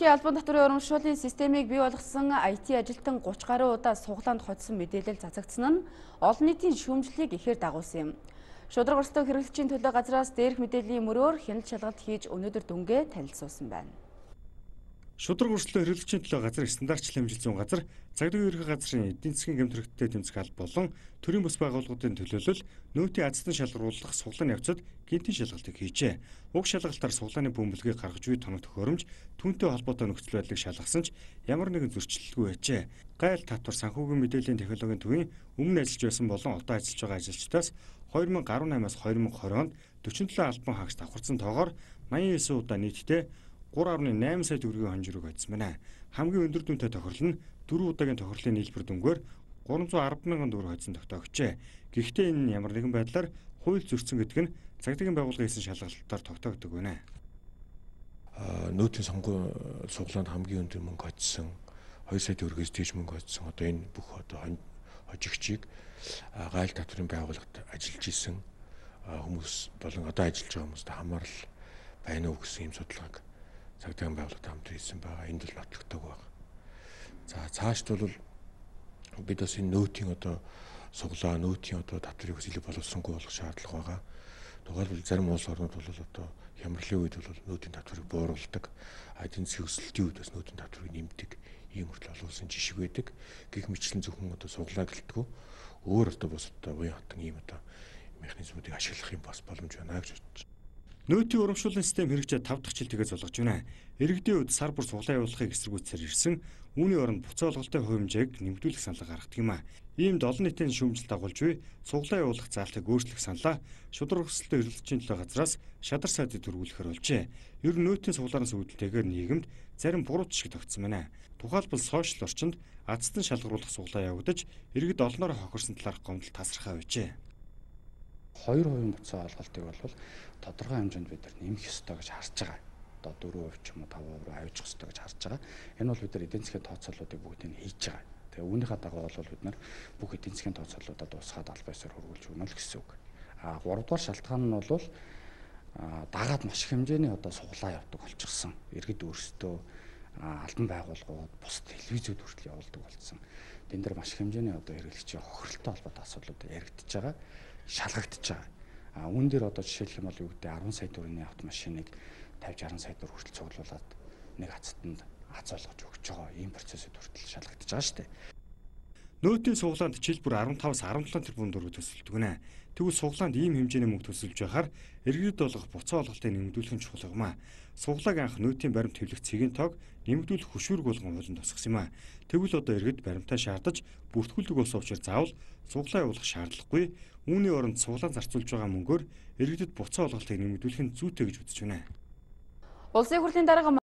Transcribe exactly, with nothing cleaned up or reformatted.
Албан татврын урамшууллын системийг бий болгосон ай ти ажилтан гуч гаруй удаа суглаанд хоцсон мэдээлэл цацагдсан нь олон нийтийн шүүмжлэлийг ихээр дагуулсан юм. Шударга өрсөлдөөн хэрэглэгчийн төлөө газраас дээрх мэдээллийн мөрөөр хяналт шалгалт хийж өнөөдөр дүнгээ танилцуулсан байна. Шударга өрсөлдөөн хэрэглэгчийн төлөө газар стандартчлан хэмжилт зүйн газар, цагдаагийн ерхий газрын эдийн засгийн гэмт хэрэгттэй тэмцэх алба болон төрийн бус байгууллагуудын төлөөлөл нөөтийн азтан шалгаруулах суглааны явцад гинтийн шалгалтыг хийжээ. Уг шалгалтаар суглааны бөмбөлгийг гаргаж буй тоног төхөөрөмж түүнтэй холбоотой нөхцөл байдлыг шалгасан ч ямар нэгэн зөрчилдөлгүй байжээ. Гайл татвар санхүүгийн мэдээллийн технологийн төвийн өмнө ажиллаж байсан болон одоо ажиллаж байгаа ажилчдаас хоёр мянга гаруй наймаас хоёр мянга хорин онд дөрвөн төрлийн албан хаагч давхарсан тоогоор наян девять удаа нийтдээ гурван гаруй найман сая төгрөгийн хонжирог хоцсон байна. Хамгийн өндөр дүнтэй тохирол нь дөрвөн удаагийн тохирлын нийлбэр дүнгээр гурван зуун арван мянган төгрөг хоцсон тогтоогчээ. Гэхдээ энэ нь ямар нэгэн байдлаар хууль зөрчсөн гэдэг нь цагдаагийн байгууллагын хийсэн шалгалтаар тогтоогддог байна. Нөөтийн сонгуульд суглаанд хамгийн өндөр мөнгө хоцсон, хоёр сая төгрөгөөс дээш мөнгө хоцсон одоо энэ бүх одоо хожигчийг гайл татврын байгууллагад ажиллаж исэн хүмүүс болон одоо ажиллаж байгаа хүмүүст хамаарал байна уу гэсэн юм судалгааг цагдаагийн байгууллагад хамт хийсэн байгаа. Энд л нотлогддог байна. За цаашд бол бид бас энэ нөөтийн одоо суглаа, нөөтийн одоо татврыг бас илүү боловсронгүй болгох шаардлага байгаа. Тухайлбал зарим улс орнууд бол одоо хямралын үед бол нөөтийн татврыг бууруулдаг, эдийн засгийн өсөлтийн үед бас нөөтийн татврыг нэмдэг ийм хүртэл олон улсын жишг байдаг. Гэх мэтлэн зөвхөн одоо суглаа гэлтгүү өөр одоо бус одоо уян хатан ийм одоо механизмуудыг ашиглах юм бас боломж байна гэж бодож байна. Нөөтийн урамшууллын систем хэрэгжээд тав дахь жилтэйгээ золгож байна. Иргэдийн үед сар бүр суглаа явуулахыг эсэргүүцсээр ирсэн үүний оронд буцаа олголтын хувь хэмжээг нэмэгдүүлэх саналга гаргадаг юм а. Иймд олон нийтийн шүүмжлэлт дагуулж буй суглаа явуулах заалтыг өөрчлөх саналаа шударга өрсөлдөөн хэрэглэгчийн төлөө газраас шадар сайдыг төрүүлэхээр болжээ. Ер нь нөөтийн суглаараас үүдэлтэйгээр нийгэмд зарим буруу жишг тогтсон байна. Тухайлбал сошиал орчинд азтан шалгаруулах суглаа явагдаж иргэд олноор хохирсон талаарх гомдол тасархаа байжээ. хоёр хувийн буцаа олголтыг бол тодорхой хэмжээнд бид нар нэмэх ёстой гэж харж байгаа. Одоо дөрвөн хувь ч юм уу таван хувь руу авчих ёстой гэж харж байгаа. Энэ бол бид нар эдийн засгийн тооцооллуудыг бүгдийг нь хийж байгаа. Тэгээ үүнийхээ дагуу бол бид нар бүх эдийн засгийн тооцооллуудад усгаад албан ёсоор хөрвүүлж өгнө л гэсэн үг. А гурав дахь шалтгаан нь бол дагаад маш их хэмжээний одоо суглаа явдаг болчихсон. Иргэд өөрсдөө албан байгууллагууд, бусад телевизүүд хүртэл явуулдаг болсон. Тэн дээр маш их хэмжээний одоо хэрэглэгчийн хохиролтой холбоотой асуудлууд яригдчихэж байгаа, шалгагдчихж байгаа. А үүн дээр одоо жишээлх юм бол юу гэдэг арван сая төгрөгийн автомашиныг тавьж арван сая төгрөг хүртэл цуглуулад нэг хацтанд хац олгож өгч байгаа ийм процессыг хүртэл шалгагдчихж байгаа шүү дээ. Нөөтийн суглаанд жишээлбэл арван таваас арван долоо тэрбум төгрөг төсөлдөг нэ. Тэгвэл суглаанд ийм хэмжээний мөнгө төсөлж байхаар иргэдэд болгох буцаа олголтыг нэмэгдүүлэх нь чухал юм а. Суглааг анх нөөтийн баримт хэвлэх цэгийн тоог нэмэгдүүлэх хөшүүрэг болгон хуулинд тусгасан юм а. Тэгвэл одоо иргэд баримтаа шаардаж бүртгүүлдэг болсон учраас заавал суглаа явуулах шаардлагагүй. Үүний оронд суглаан зарцуулж байгаа мөнгөөр иргэдэд буцаа олголтыг нэмэгдүүлэх нь зүйтэй гэж үзэж байна. Улсын хурлын дарга